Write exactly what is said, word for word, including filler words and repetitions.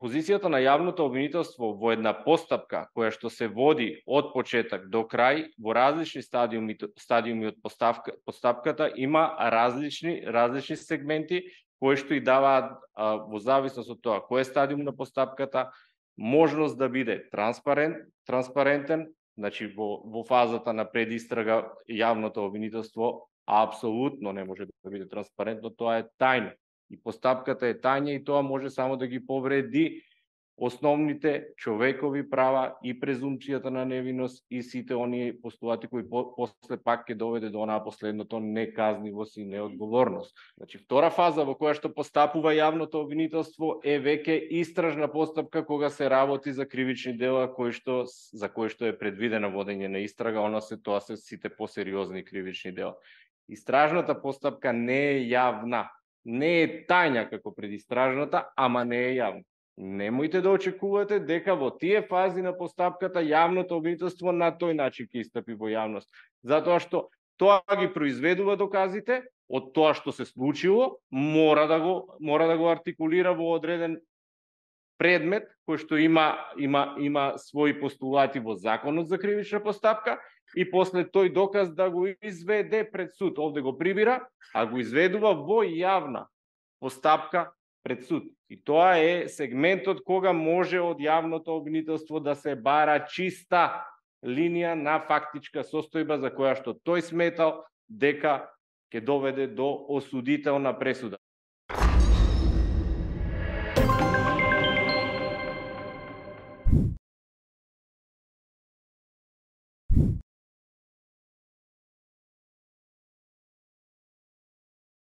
позицијата на јавното обвинителство во една постапка која што се води од почеток до крај во различни стадиуми стадиуми од постапка, постапката има различни различни сегменти кои што и даваат во зависност од тоа кој е стадиум на постапката можност да биде транспарент, транспарентен, значи во во фазата на предистрага јавното обвинителство апсолутно не може да биде транспарентно, тоа е тајно. И постапката е тајна и тоа може само да ги повреди основните човекови права и презумпцијата на невиност и сите оние постулати кои по, после пак ќе доведе до онаа последното неказнивост и неодговорност. Значи втора фаза во која што постапува јавното обвинителство е веќе истражна постапка кога се работи за кривични дела кои што за кои што е предвидено водење на истрага, она се тоа се сите посериозни кривични дела. Истражната постапка не е јавна. Не е тајна како предистражната, ама не е јавна. Немојте да очекувате дека во тие фази на постапката јавното обвинителство на тој начин ќе истапи во јавност. Затоа што тоа ги произведува доказите, од тоа што се случило, мора да го мора да го артикулира во одреден предмет кој што има има има своји постулати во Законот за кривична постапка и после тој доказ да го изведе пред суд. Овде го прибира, а го изведува во јавна постапка пред суд. И тоа е сегментот кога може од јавното обвинителство да се бара чиста линија на фактичка состојба за која што тој сметал дека ќе доведе до осудителна пресуда.